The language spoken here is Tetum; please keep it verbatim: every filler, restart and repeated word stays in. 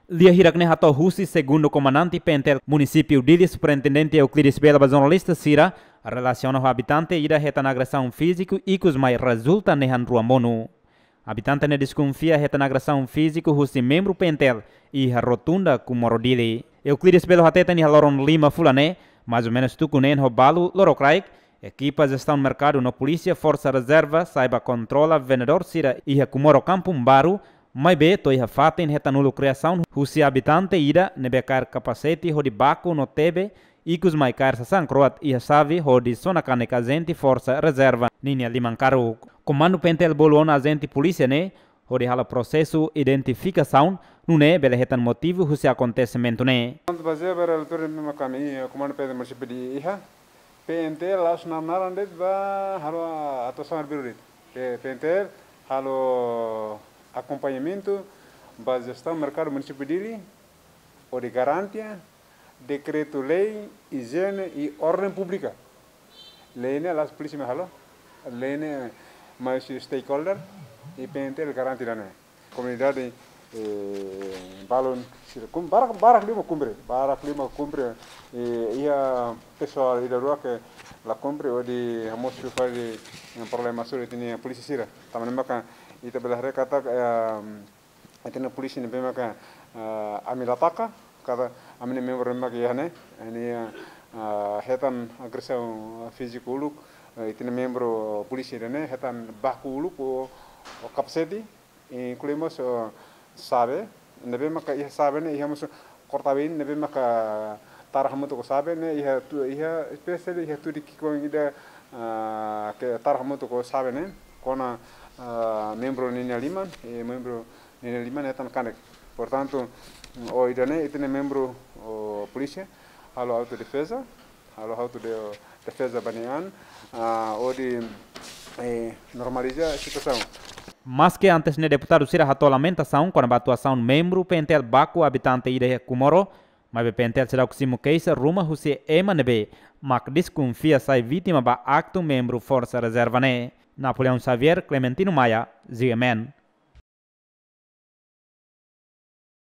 Lia hirak ne'e hato'o husi segundu komandante PNTL Munisípiu Dili, Superintendente Euclides Belo ba jornalista sira, relasiona ho abitante ida hetan agresaun fíziku ikus mai rezulta nehan rua monu. Abitante ne'e deskonfia hetan agresaun fíziku husi membru PNTL iha rotunda Comoro Dili. Euclides Belo hateten iha loron lima fulan ne'e, mais ou menus tuku neen ho balu lorokraik, ekipa jestaun merkadu no polísia forsa rezerva sai ba kontrola vendedór sira iha Comoro Kampung Baru, maibé to'o iha fatin hetan uluk reasaun husi abitante ida ne'ebé kaer kapasete hodi baku no tebe, ikus mai kaer sasán kroat iha xave hodi sona kanek ajente forsa rezerva ninia liman karuk. Komandu PNTL bolu ona ajente polísia ne'e hodi halo prosesu identifikasaun, nune'e bele hetan motivu husi akontesimentu ne'e. Prontu, bazeia ba relatóriu ne'ebé mak ami, eh, Komandu PNTL Munisípiu Dili iha, PNTL la'ós naran de'it ba halo atuasaun arbiru de'it. P-, PNTL halo akompañamentu ba jestaun merkadu Munisípiu Dili, hodi garante dekretu-lei, ijiene i orden públika. Lei ne'e la'ós polísia mak halo, lei ne'e mai husi stakeholder, i PNTL garante ida-ne'e. Komunidade, eh, balun sira kum-, barak, barak liu mak kumpre, barak liu mak kumpre, eh, iha pesoál ida rua ke la kumpre hodi hamosu fali, eh, problema sira iha ita-nia polísia sira. Tanba ne'e maka ita bele haree katak, eh, ita-nia polísia ne'ebé maka, eh, ami la taka, katak ami-nia membru ne'ebé maka iha ne'e, ne'e, eh, hetan agresaun fíziku uluk, eh, ita-nia membru polísia ida-ne'e hetan baku uluk ho, ho kapasete, inklui mós, eh, xave, ne'ebé maka iha xave ne'e, iha mós korta-been ne'ebé maka tara hamutuk ho xave ne'e, iha tu-, iha espesiál iha tudik ki'ikoan ida, ah, ke tara hamutuk ho xave ne'e, kona, ah, membru ninia liman, i membru ninia liman hetan kanek. Portantu, ohin ida-ne'e, ita-nia membru, oh, polísia halo autodefeza, halo autodefeza ba nia an, ah, hodi, eh, normaliza situasaun. Maske antes ne'e deputadu sira hato'o lamentasaun kona-ba atuasaun membru PNTL baku abitante ida iha Comoro, maibé PNTL seidauk simu keixa ruma husi ema ne'ebé mak deskonfia sai vítima ba aktu membru forsa rezerva ne'e. Napoleão Xavier, Clementino Maia, G M N.